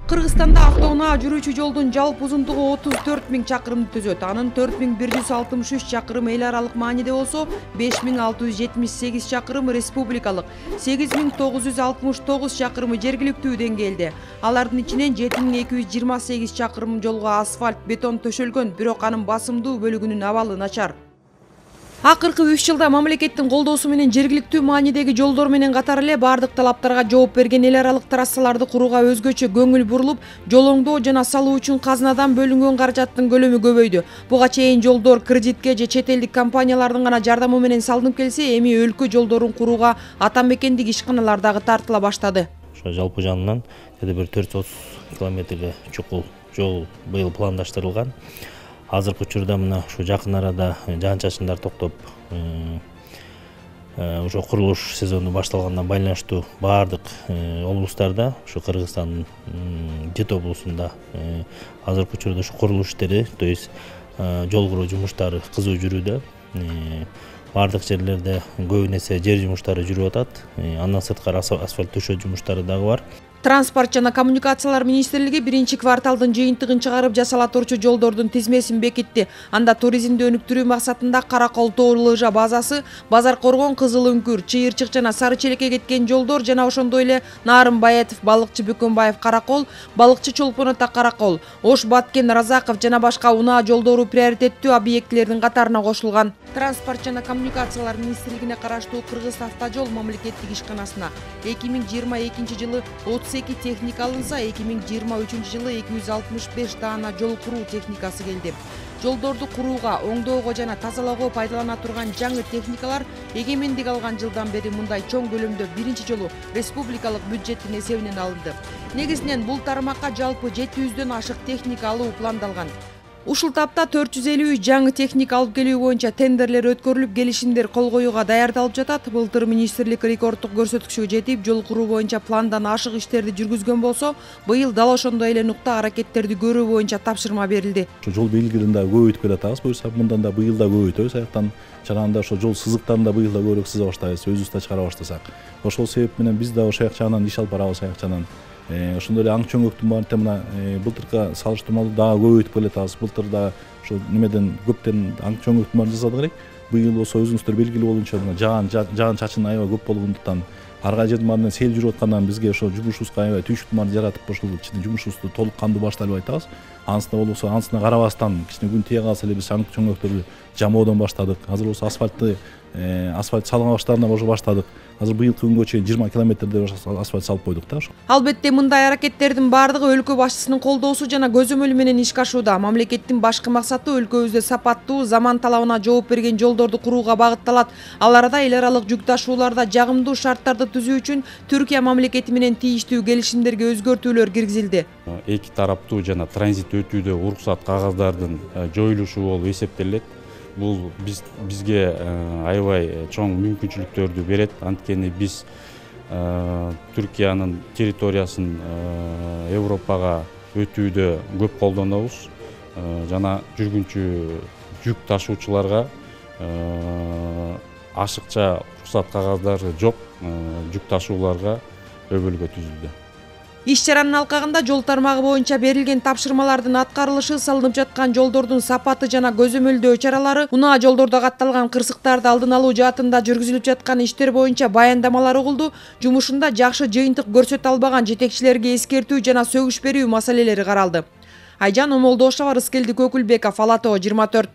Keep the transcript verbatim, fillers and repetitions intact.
Кыргызстанда автоунаа жүрүүчү жолдун жалпы узундугу отуз төрт миң чакырымды түзөт. Анын төрт миң бир жүз алтымыш үч чакырымы эл аралык мааниде болсо, беш миң алты жүз жетимиш сегиз чакырымы республикалык, сегиз миң тогуз жүз алтымыш тогуз чакырымы жергиликтүү деңгээлде. Алардын ичинен жети миң эки жүз жыйырма сегиз чакырым жолго асфальт, бетон төшөлгөн, бирок анын басымдуу бөлүгүнүн абалы начар. Акыркы үч жылда мамлекеттин колдоосу менен жергиликтүү маанидеги жолдор менен катар эле бардык талаптарга жооп берген эл аралык трассаларды курууга өзгөчө көңүл бурулуп, жол оңдоо жана салуу үчүн казынадан бөлүнгөн каражаттын көлөмү көбөйдү. Буга чейин жолдор кредитке же чет элдик компаниялардын гана жардамы менен салынып келсе, эми өлкө жолдорун курууга ата мекендик ишканалар дагы тартыла баштады. Ошо жалпы жанынан деди бир төрт жүз отуз километрге чукул жол быйыл пландаштырылган. Азыркы учурда мына ушу жакын арада жаан-чачындар токтоп, ошо курулуш сезону башталгандан байланыштуу баардык облустарда, ушу Кыргызстандын жети облусунда азыркы учурда ушу курулуш иштери, то есть жол куруу жумуштары кызуу жүрүүдө. Баардык жерлерде көбүн эсе жер жумуштары жүрүп атат. Андан сырткары асфальт төшөө жумуштары дагы бар. Транспорт жана коммуникациялар министрлиги биринчи кварталдын жыйынтыгын чыгарып жасала турчу жолдордун тизмесин бекитти. Анда туризмди өнүктүрүү максатында Каракол тоо лыжа базасы, Базар Коргон, Кызыл Үңкүр, Чыйырчык жана Сары Челекке кеткен жолдор жана ошондой эле Нарын Баятов, Балыкчы Бөкөнбаев Каракол, Балыкчы Чолпон Ата Каракол, Ош Баткен Разаков жана башка унаа жолдору приоритеттүү объектилердин катарына кошулган. Транспорт жана коммуникациялар министрлигине караштуу Кыргыз автожол мамлекеттик ишканасына эки миң жыйырма экинчи жылы отуз эки техника алынса, эки миң жыйырма үчүнчү жылы эки жүз алтымыш беш даана жол куруу техникасы келди. Жолдорду курууга, оңдоого жана тазалоого пайдалана турган жаңы техникалар эгемендик алган жылдан бери мындай чоң көлөмдө биринчи жолу республикалык бюджеттин эсебинен алынды. Негизинен бул тармакка жалпы жети жүздөн ашык техника алуу пландалган. Ушул тапта төрт жүз элүү үч жаңы техника алып келүү боюнча тендерлер өткөрүлүп, келишимдер кол коюуга даярдалып жатат. Былтыр министрлик рекордтук көрсөткүчкө жетип, жол куруу боюнча пландан ашык иштерди жүргүзгөн болсо, быйыл дал ошондой эле нукта аракеттерди көрүү боюнча тапшырма берилди. Ошо жол белгилерин да көбөйтүп келатабыз. Буюрса мындан да быйыл да көбөйтөбүз. Аяктан чыганда ошо жол сызыктарын да быйыл да көбүрөөк сыза баштайбыз, өзүбүз да чыгара баштасак. Ошол себеп менен биз да ошол жагынан иш алып барабыз, аяк жагынан. Ошондой эле аң чөңөктүн баарын мына былтыркы салыштырмалуу дагы көбөйтүп келатабыз. Былтыр да ошо немеден көптөн аң чөңөктүн баарын жасадык элек. Быйыл болсо өзүңүздөр белгилүү болуунча мына жаан жаан чачын аябай көп болгондуктан ар кай жердин баарынан сел жүрүп аткандан бизге ошо жумушубузга аябай түйшүктүн баарын жаратып, ошол ичинде жумушубузду толук кандуу баштайлап айтабыз. Анысына болсо анысына карабастан кичине күн тие калса эле биз аң чөңөктөрдү жамоодон баштадык. Азыр болсо асфальтты асфальт салган баштаарынан уже баштадык. Азыр быйылкы күнгө чейин жыйырма километрде асфальт салып койдук да ошо. Албетте мындай аракеттердин баардыгы өлкө башчысынын колдоосу жана көзөмөлү менен ишке ашууда. Мамлекеттин башкы максаты өлкөбүздө сапаттуу, заман талабына жооп берген жолдорду курууга багытталат. Ал арада эл аралык жүк ташууларда жагымдуу шарттарды түзүү үчүн Түркия мамлекети менен тийиштүү келишимдерге өзгөртүүлөр киргизилди. Эки тараптуу жана транзит өтүүдө уруксат кагаздардын жоюлушу болуп эсептелет. Бул биз бизге аябай чоң мүмкүнчүлүктөрдү берет. Анткени биз Түркиянын территориясын Европага өтүүдө көп колдонобуз. Жана жүргүнчү жүк ташуучуларга ашыкча уруксат кагаздары жок жүк ташууларга өбөлгө түзүлдү. Иш чаранын алкагында жол тармагы боюнча берилген тапшырмалардын аткарылышы, салынып жаткан жолдордун сапаты жана көзөмөлдөө чаралары, унаа жолдордо катталган кырсыктарды алдын алуу жаатында жүргүзүлүп жаткан иштер боюнча баяндамалар угулду. Жумушунда жакшы жыйынтык көрсөтө албаган жетекчилерге эскертүү жана сөгүш берүү маселелери каралды. Айжан Омолдошова, Рыскелди Көкүлбеков, Ала тоо жыйырма төрт.